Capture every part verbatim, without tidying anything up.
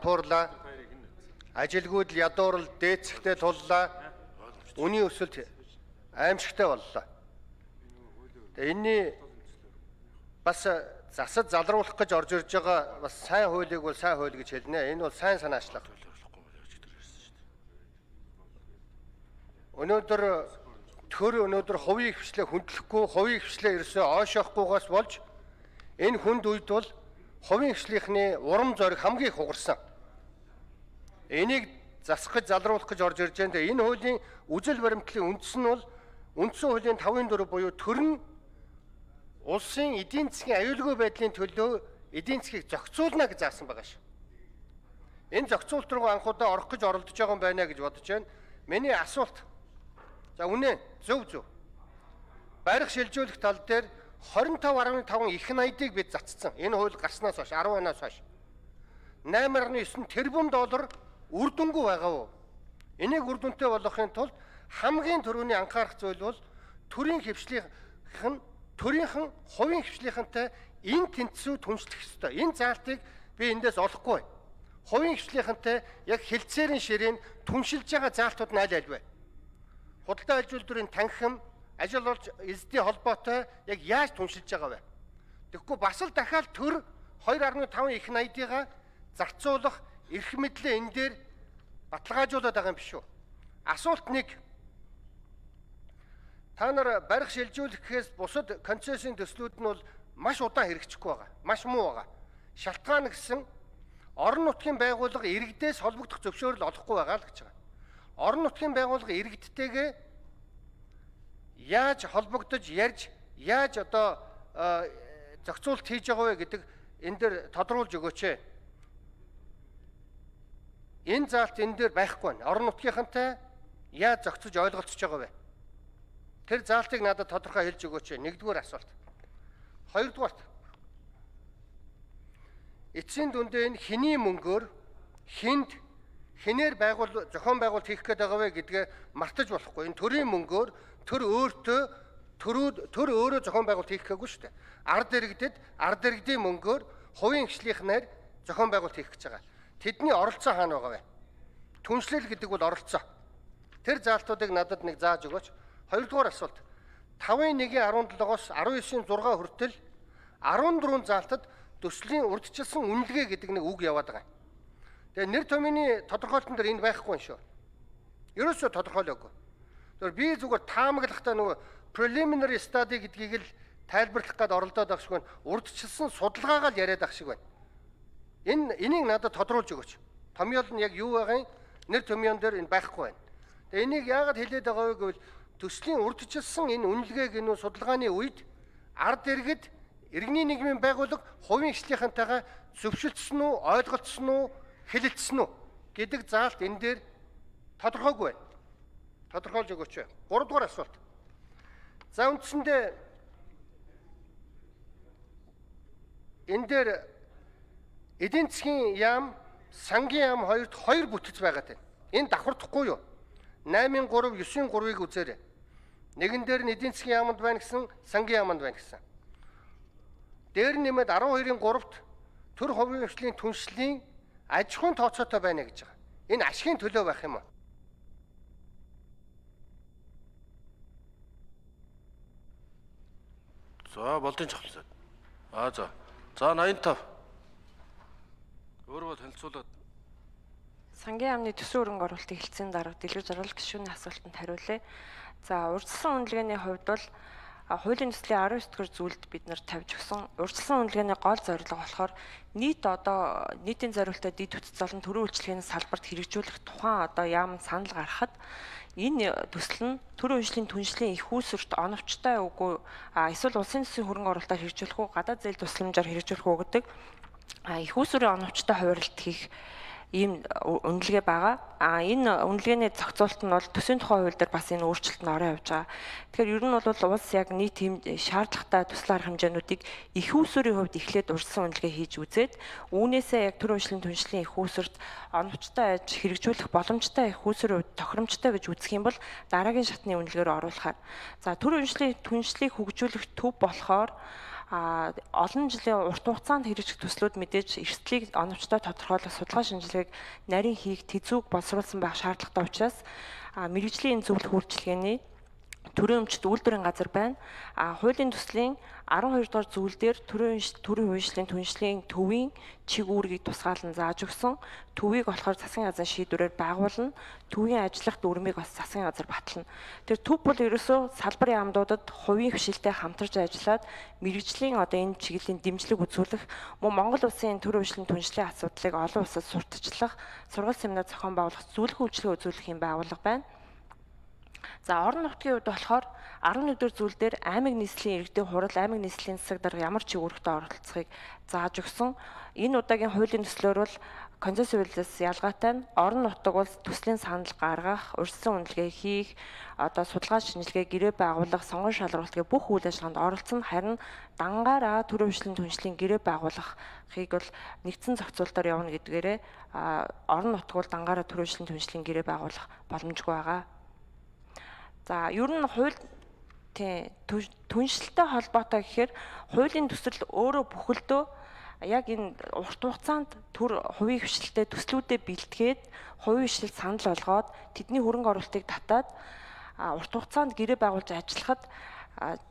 туурлаа. Ажилгүйд ядуурл дээцэхтэй туллаа. Үний өсөлт аимшигтай боллоо. Тэгээ энэний бас засад залруулах гэж орж ирж байгаа бас сайн хуулийг бол сайн хууль гэж хэлнэ. Энэ бол сайн санаачлага. Өнөөдөр төр өнөөдөр хувийн хвшлээ хүндлэхгүй, хувийн хвшлээ ерөөсөө ойшоохгүйгаас болж энэ хүнд үед бол хувийн хвшлийнхний урам зориг хамгийн их хугарсан. Энийг засах гэж залруулах гэж орж ирж байгаа. Энэ хуулийн үжил баримтлалын үндэс нь бол үндсэн хуулийн тавын дөрөв буюу төр нь улсын эдийн засгийн аюулгүй байдлын төлөө эдийн засгийг зохицуулна гэж заасан байгаа шүү. Энэ зохицуулт руу анхудаа орох гэж оролдож байгаа юм байна гэж бодож байна. Миний асуулт. За үнэ зөв зөв. Барих шилжүүлэх тал дээр двадцать пять гаруй таван их найдыг бид цацсан. Энэ хууль гарснаас хойш десять оноос хойш найман гаруй девять тэрбум доллар үр дүнгүй байгаа уу? Энийг үр дүнтэй болгохын тулд хамгийн түрүүний анхаарах зүйл бол төрийн хвшлийнхэн төрийнхэн хувийн хвшлийнхэнтэй энэ тэнцвүүд хүншлэх ёстой. Энэ заалтыг би эндээс олохгүй. Хувийн хвшлийнхэнтэй яг хэлцээрийн ширээн түншилж байгаа заалтууд нь аль аль вэ? Худалдаа аж үйлдвэрийн танхим, ажил олж эзэдийн холбоотой яг яаж түншилж байгаа вэ? Тэгэхгүй бас л дахиад төр two point five их найдыгаа зарцуулах эрх мэдлээ энэ дээр баталгаажуулаад байгаа юм биш үү? Асуулт нэг. Та нар барих шилжүүлэхээс бусад концессийн төслүүд нь бол маш удаан хэрэгжихгүй байгаа. Маш муу байгаа. Шалтгаан гэсэн орон нутгийн байгууллага иргэдээс холбогдох зөвшөөрөл олохгүй байгаа л гэж байгаа. Орон нутгийн байгууллага иргэдтэйгээ яаж холбогдож ярьж, яаж одоо зохицуулт хийж байгаа вэ гэдэг энэ дээр тодруулж өгөөч ээ. Энэ заалт энэ дээр байхгүй байна. Орон нутгийнхантай яаж зохицож ойлголцож байгаа вэ? Тэр заалтыг надад тодорхой хэлж өгөөч. Нэгдүгээр асуулт. Хоёрдугаарт. Эцсийн дүндээ энэ хэний мөнгөөр хүнд хинээр байгуул зохион байгуулалт хийх гээд байгаа вэ гэдгээ мартаж болохгүй. Энэ төрийн мөнгөөр төр өөртөө төрүүд төр өөрөө зохион байгуулалт хийх гээгүй шүү дээ. Ард иргэдэд ард иргэдийн мөнгөөр хувийн хвшлийнхнээр зохион байгуулалт хийх гэж байгаа. Тэдний оролцоо хаана байгаа вэ? Түншлэл гэдэг бол оролцоо. Тэр заалтуудыг надад нэг зааж өгөөч. Хоёрдугаар асуулт. five one seven-оос nineteen six хүртэл fourteen заалтад төслийн урьдчилсан үнэлгээ гэдэг нэг үг яваад байгаа. Тэгээ нэр томьёоны тодорхойлолтон дээр энэ байхгүй юм шүү. Ерөөсөө тодорхойлоогүй. Тэр би зүгээр таамаглахтаа нөгөө preliminary study гэдгийг л тайлбарлах гээд оролдоод байх шиг байна. Урьдчилсан судалгаагаа л яриад байх шиг байна. Энэ энийг надад тодруулж өгөөч. Томьёол нь яг юу байгаа юм? Нэр томьёон дээр энэ байхгүй байна. Тэгээ энийг яагаад хэлээд байгаа вэ гэвэл төслийн урьдчилсан энэ үнэлгээг энэ судалгааны үед ард иргэд иргэний нийгмийн байгууллага хувийн хвшлийнхантайгаа зөвшөлдсөн үү, ойлголцсон уу, хэлэлцсэн үү гэдэг заалт энэ дээр тодорхойгүй байна. Тодорхойлж өгөөч. гуравдугаар асуулт. За үндсэндээ энэ дээр эдийн засгийн яам, сангийн яам хоёрт хоёр бүтэц байгаад байна. Энэ давхардахгүй юу? nine three nine three-ыг үзээрэй. Нэгэн дээр нь эдийн засгийн яамд байна гэсэн, сангийн яамд байна гэсэн. Дээр нэмээд twelve-ийн three-т төр хувийн хвшлийн түншлийн аж ахуйн тооцоотой байна гэж байгаа. Энэ ашигын төлөө байх юм уу? За, болдын чухалсаад. Аа за. За eighty-five. Өөрөө танилцуулаад. Сангийн яамны төсвийн хөрөнгө оруулалтыг хэлцээний дарга дэлгэр зориулах гишүүний асуултанд хариулъя. За, урьдчилсан үнэлгээний хувьд бол хуулийн төслийн nineteen дэх зүйлд бид нар тавьж өгсөн. Урьдчилсан үнэлгээний гол зорилго болохоор нийт одоо нийтийн зориулалтад дэд бүтц болон төрийн үйлчлэгээний салбарт хэрэгжүүлэх тухайн одоо яам санал гаргахад энэ төсөл нь төрийн үйлчлэлийн түншлийн их үүсвэрт оновчтой үгүй эсвэл улсын төсвийн хөрөнгө оруулалтаар хэрэгжүүлэх үү гадаад зээл тусламжаар хэрэгжүүлэх үү гэдэг их үүсвэрийн оновчтой хуваарлт хийх ийм үнэлгээ байгаа. А энэ үнэлгээний зохицуулалт нь бол төсвийн тухай хууль дээр бас энэ өөрчлөлт нь орон явж байгаа. Тэгэхээр ер нь бол улс яг нийт тийм шаардлагатай төсөл арга хэмжээнүүдийг их үүсвэрийн хувьд эхлээд урьдчилсан үнэлгээ хийж үзээд үүнээсээ яг төрийн үйлчлэлийн түншлийн их үүсвэрт оновчтой аж хэрэгжүүлэх боломжтой их үүсвэрийн хувьд тохиромжтой гэж үзэх юм бол дараагийн шатны үнэлгээр оруулахаар. За төрийн үйлчлэлийн түншлийг хөгжүүлэх төв болохоор а олон жилийн урт хугацаанд хэрэгжих төслүүд мэдээж эрсдлийг оновчтой тодорхойлох судалгаа шинжилгээг нарийн хийх тэзүүг боловсруулсан байх шаардлагатай учраас мэрэгжлийн зөвлөх үйлчилгээний төрийн өмчт үйлдвэрийн газар байна. А хуулийн төслийн арван хоёр дугаар зүйл дээр төрийн төрийн хувьчлалын түншлэлийн төвийн чиг үүргийг тусгаалan зааж өгсөн. Төвийг болохоор засгийн газрын шийдвэрээр байгуулна. Төвийн ажиллах дүрмийг бас засгийн газар батална. Тэр төв бол ерөөсөө салбарын яамдуудад хувийн хвшилтэд хамтарч ажиллаад мэрэгжлийн одоо энэ чиглэлийн дэмжлэг үзүүлэх, мөн Монгол улсын төрийн хувьчлалын түншлэлийн асуудлыг олон улсад сурталчлах, сургалт семинар зохион байгуулах, зөвлөгөө үйлчилгээ үзүүлэх юм байгууллага байна. За орон нутгийн хувьд болохоор арван нэгдүгээр зүйл дээр аймаг нийслэлийн иргэдийн хурал, аймаг нийслэлийн засаг дарга ямар ч үүрэгтэй оролцохыг зааж өгсөн. Энэ удаагийн хуулийн төслөөр бол концессионлоос ялгаатай нь орон нутаг бол төслийн санал гаргах, урьдчилан үнэлгээ хийх, одоо судалгаа шинжилгээ гэрээ байгуулах, сонгон шалруулалт гэх бүх үйл ажиллагаанд оролцсон. Харин дангаараа төрийн хувьчлалын түншлэлийн гэрээ байгуулахыг бол нэгдсэн зохицуулалтаар явна гэдгээрээ орон нутаг бол дангаараа төрийн хувьчлалын түншлэлийн гэрээ байгуулах боломжгүй байгаа. За ер нь хууль тий түншлэлтэй холбоотой гэхээр хуулийн төсөл өөрөө бүхэлдөө яг энэ урт хугацаанд төр хувийн хвшилтэд төслүүдэд бэлтгээд хувийн хвшил санал болгоод тэдний хөрөнгө оруулалтыг татаад урт хугацаанд гэрээ байгуулж ажиллахад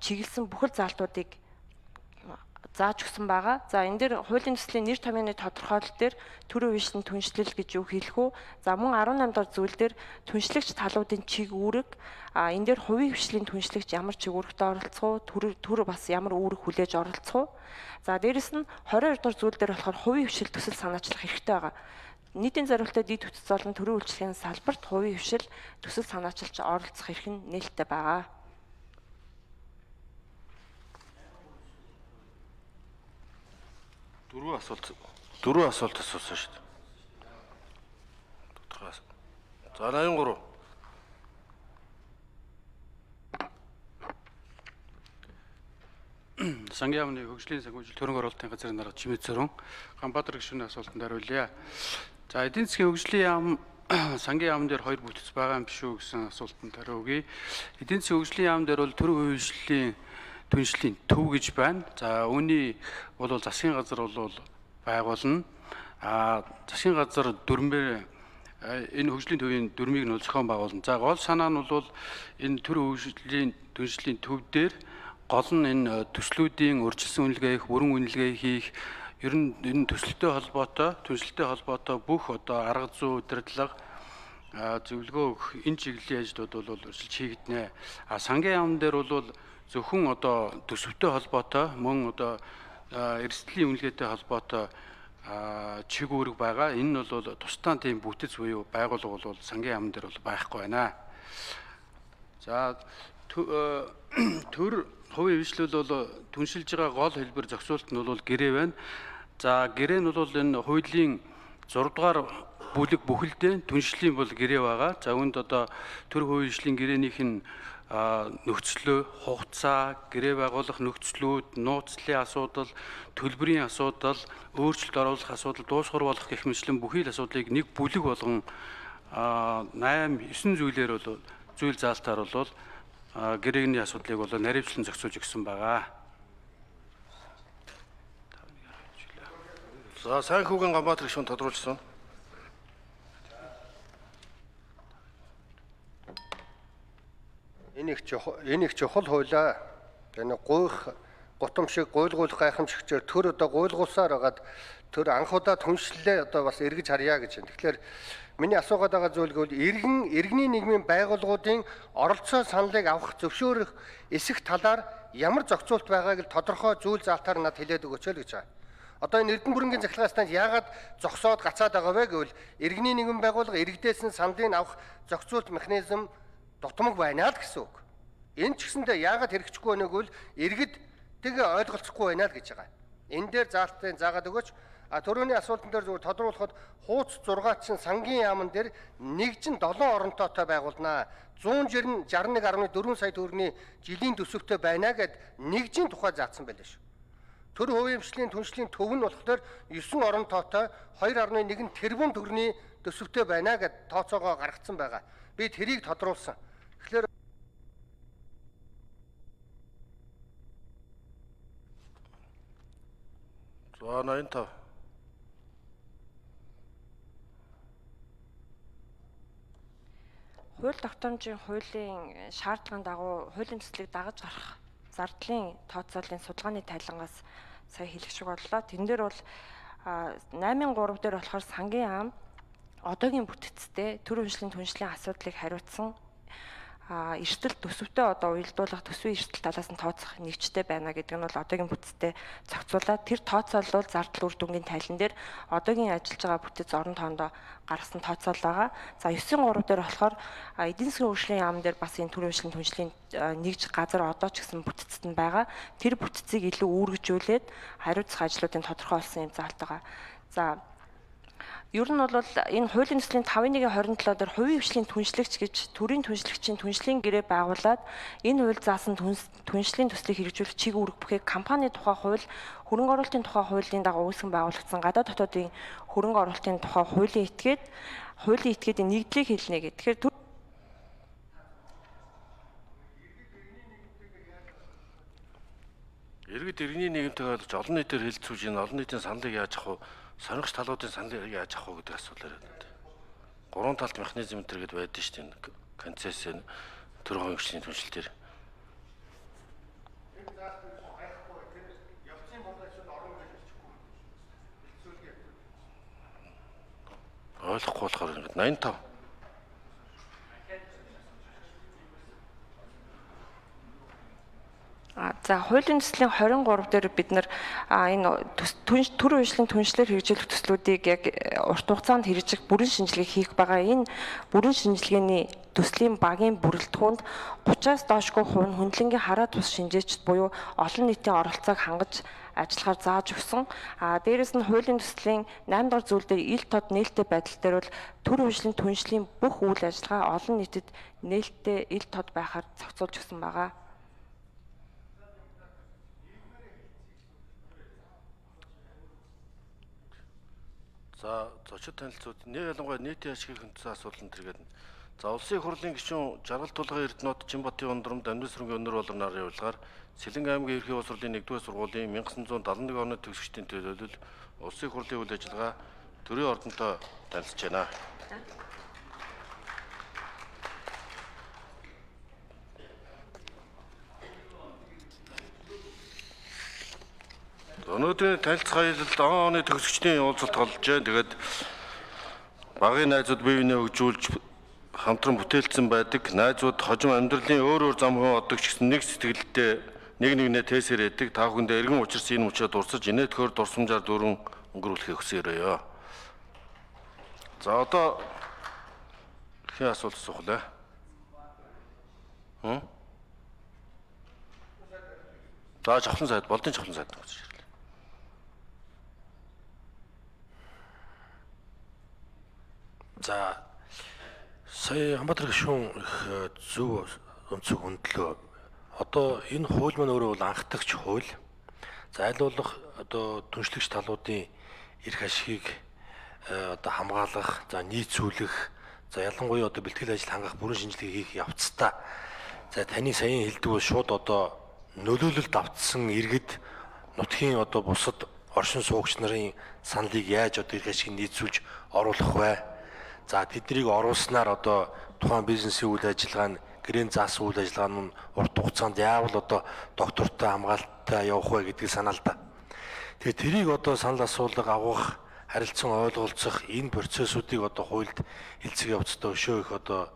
чиглэсэн бүхэл заалтуудыг зааж өгсөн байгаа. За энэ дээр хуулийн төслийн нэр томьёоны тодорхойлолт дээр төрийн хувьчлалын түншлэл гэж юу хэлэх үү? За мөн арван намын дахь зүйл дээр түншлэгч талуудын чиг үүрэг, а энэ дээр хувийн хвшлийн түншлэгч ямар чиг үүрэгтэй оролцох уу? Төр төр бас ямар үүрэг хүлээж оролцох уу? За дээрэс нь двадцать хоёр дахь зүйл дээр болохоор хувийн хвшил төсөл санаачлах хэрэгтэй байгаа. Нийтийн зорилттой дид хүч золон төрийн үйлчлэгийн салбарт хувийн хвшил төсөл санаачилж оролцох эрх нь нээлттэй байгаа. Дөрвөн асуулт дөрвөн асуулт асуусан шүү дээ. Тодорхой. За восемьдесят три. Сангийн яамны хөгжлийн санхүүжилт хөрөнгө оруулалтын газрын дарга Чимэд Цорон Ганбаатар гишүүний асуултанд хариулъя. За эдийн засгийн хөгжлийн яам сангийн яам дээр хоёр бүтц байгаа юм биш үү гэсэн асуултанд хариу өгье. Эдийн засгийн хөгжлийн яам дээр бол төрийн хувьчлалын түншлийн төв гэж байна. За үүний бол засгийн газар бол байгуулна. А засгийн газар дүрмээр энэ хөгжлийн төвийн дүрмийг нь зохион байгуулна. За гол санаа нь бол энэ төрийн хөгжлийн түншлийн төв дээр гол нь энэ төслүүдийн урьдчилсан үнэлгээ хийх, бүрэн үнэлгээ хийх, ер нь энэ төсөлтэй холбоотой, түншлэлтэй холбоотой бүх одоо арга зүй, удирдлага, зөвлөгөө өгөх энэ чиглэлийн ажлууд бол урьдчилж хийгднэ. А сангийн яам дээр бол зөвхөн одоо төсөвтэй холбоотой мөн одоо эрсдлийн үнэлгээтэй холбоотой чиг үүрэг байгаа. Энэ нь бол тусдаа тийм бүтэц буюу байгууллага бол сангийн яам дээр бол байхгүй байна. За төр хувийн хвшлэл бол түншилж байгаа гол хэлбэр зохицуулалт нь бол гэрээ байна. За гэрээ нь бол энэ хуулийн зураг дугаар бүлэг бүхэлдээ түншлийн бол гэрээ байгаа. За үүнд одоо төр хувийн хвшлийн гэрээнийх нь нөхцлөө, хугацаа, гэрээ байгуулах нөхцлүүд, нууцлалын асуудал, төлбөрийн асуудал, өөрчлөлт оруулах асуудал, дуусгар болох гэх мэтлэн бүхий л асуудлыг нэг бүлэг болгон восемь девять зүйлээр бол зүйл заалтаар бол гэрээний асуудлыг бол наривчлан зохицуулж өгсөн байгаа. За сайн хүүгэн Ганбаатар гишүүн тодруулсан. Энэ их энэ их чухал хуулаа. Энэ гуйх гутам шиг гуйлгуулах гайхамшигчээр төр одоо гуйлгуулсаар хагаад төр анх удаа түншлэлээ одоо бас эргэж харьяа гэж байна. Тэгэхээр миний асуугаад байгаа зүйл гэвэл иргэн иргэний нийгмийн байгууллагуудын оролцоо саналыг авах зөвшөөрөх эсэх талаар ямар зохицуулт байгааг л тодорхой зүйл заалтаар надад хэлээд өгөөч л гэж байгаа. Одоо энэ Эрдэнэ бүрэнгийн захиргааны станц яагаад зогсоод гацаад байгаа вэ гэвэл иргэний нийгмийн байгууллага иргэдээс нь саналыг авах зохицуулт механизм дутмаг байна л гэсэн үг. Энэ ч гэсэндээ яагаад хэрэгжихгүй байгааг бол иргэд тэгээ ойлголцохгүй байна л гэж байгаа. Энэ дээр заалтын заагаад өгөөч. А төрөний асуултан дээр зөвхөн тодруулахад хууц зургаачин сангийн яамн дээр нэгжин долоон оронтойтой байгуулнаа. зуун шестьдесят нэг гаруй дөрвөн сая төгрөгийн жилийн төсөвтэй байна гэд нэгжийн тухай заасан байлаа шүү. Төр хувийн хвшлийн түншлийн төв нь болохоор девять оронтойтой two point one тэрбум төгрөгийн төсөвтэй байна гэд тооцоогоо гаргацсан байгаа. Би тэрийг тодруулсан. Тэгэхээр За найман тав. Хууль тогтоомжийн хуулийн шаардлагын дагуу хуулийн төслийг дагаж гарах зардлын тооцооллын судалгааны тайлангаас сая хэлэх шиг боллоо. Тэн дээр бол найман гурав дээр болохоор сангийн ам одоогийн бүтцтэй төр хөгжлийн түншлэлийн асуудлыг хариуцсан а эрсдэл төсөвтэй одоо уялдуулах төсвийн эрсдэл талаас нь тооцох нэгжтэй байна гэдэг нь бол одоогийн бүтцтэй зохицуулаад тэр тооцоолол зардал үр дүнгийн тайлан дээр одоогийн ажиллаж байгаа бүтэц орон тоондоо гаргасан тооцоол байгаа. За девять гурав дээр болохоор эдийн засгийн хөгжлийн яам дээр бас энэ төр хөгжлийн түншлэлийн нэгж газар одоо ч гэсэн бүтцэд нь байгаа. Тэр бүтцийг илүү үүргэжүүлээд хариуцах ажлуудын тодорхой болсон юм заалт байгаа. За ер нь бол энэ хуулийн төслийн тавын нэг хорин долоо дээр хувийн хвшлийн түншлэгч гэж төрийн түншлэгчийн түншлийн гэрээ байгуулад энэ хууль заасан түншлийн төслийг хэрэгжүүлэх чиг үүрэг бүхийг компани тухай хууль, хөрөнгө оруулалтын тухай хуулийн дагуу үүсгэн байгуулагдсан гадаад дотоодын хөрөнгө оруулалтын тухай хуулийн этгээд хуулийн этгээдийн нэгдлийг хэлнэ гэх. Тэгэхээр Иргэд иргэний нийгэмтэйг олж олон нийтээр хэлцүүлж ийн олон нийтийн саналыг яаж авах вэ? Сонирхч талуудын саналыг яаж авах вэ гэдэг асуулаар байна. Гурван талт механизм төргээд байдаг шүү дээ. Концессийн төр хувийн хвшлийн түншлэл дээр. Ойлгохгүй болохоор найман тав. За хуулийн төслийн хорин гурав дээр бид нар энэ төр хөгжлийн түншлэлээр хэрэгжүүлэх төслүүдийг яг урт хугацаанд хэрэгжих бүрэн шинжилгээ хийх байгаа. Энэ бүрэн шинжилгээний төслийн багийн бүрэлдэхүүнд гураваас доошгүй хувь хөндлөнгийн хараа тус шинжээчд буюу олон нийтийн оролцоог хангаж ажиллахаар зааж өгсөн. А дээрэс нь хуулийн төслийн найман дахь зүйл дээр ил тод нээлттэй байдал дээр бол төр хөгжлийн түншлийн бүх үйл ажиллагаа олон нийтэд нээлттэй ил тод байхаар зохицуулж өгсөн байгаа. За зочид танилцууд нэг ялангуяа нийтийн ашигын хөндлөсөн асуулан тэргээд за улсын хурлын гишүүн жаргал тулгын Эрдэнэт Чимбатын ундрамд амьд сүргийн өнөр болон нарын явуулгаар Сэлэн аймгийн ерхий улс хурлын нэгдүгээр сургуулийн 천ин девятьсот седьмидесяти оны төгсөгчдийн төлөөлөл улсын хурлын үйл ажиллагаа төрийн ордонтой танилцж байна. Өнөөдрийн танилцах аялалд он оны төгсөгчдийн уулзалт толжээ. Тэгээд багын найзууд бие биенээ хөгжүүлж хамтран бүтээлцсэн байдаг. Найзууд хожим амьдралын өөр өөр зам хүн одогч гэсэн нэг сэтгэлдээ нэг нэгнээ тээсэр яадаг. Та бүхэндээ эргэн учирс энэ мөчөө дурсаж инээдхөр дурсамжаар дөрвөн өнгөрүүлэхийг хүсээрээ. За одоо хэн асуулт асуух вэ? Хм? За жавхлан сайд, болдын жавхлан сайд гэж ирлээ. За сая Хамбатар гишүүн их зөв өнцөг хөндлөө. Одоо энэ хууль маань өөрөө бол анхдагч хууль. За аль болох одоо түншлэгч талуудын эрх ашигыг одоо хамгаалах, за нийцүүлэх, за ялангуяа одоо бэлтгэл ажил хангах бүрэн шинжилгээ хийх явцдаа. За таны саяын хэлдэг бол шууд одоо нөлөөлөлд автсан иргэд нутгийн одоо бусад оршин суугч нарын саналыг яаж одоо эрх ашиг нийцүүлж оруулах вэ? За тэднийг оруулснаар одоо тухайн бизнесийн үйл ажиллагаа нь гэрээний заасан үйл ажиллагаа нь урт хугацаанд яавал одоо доктортой хамгаалттай явах вэ гэдгийг санаа л да. Тэгээ тэрийг одоо санал асуулга авах, харилцан ойлголцох энэ процессуудыг одоо хуульд хэлцэх явцдаа өшөө их одоо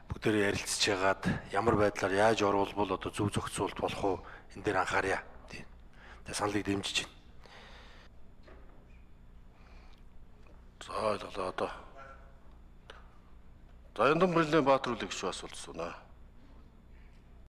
бүгдээрээ ярилцж яагаад ямар байдлаар яаж оруулбал одоо зөв зохицуулт болох уу энэ дээр анхаарья. Тийм. Тэгээ саналыг дэмжиж байна. За ойлголоо одоо. За Яндан Бэрлийн Баатар үлэг шүү асуулт асууна.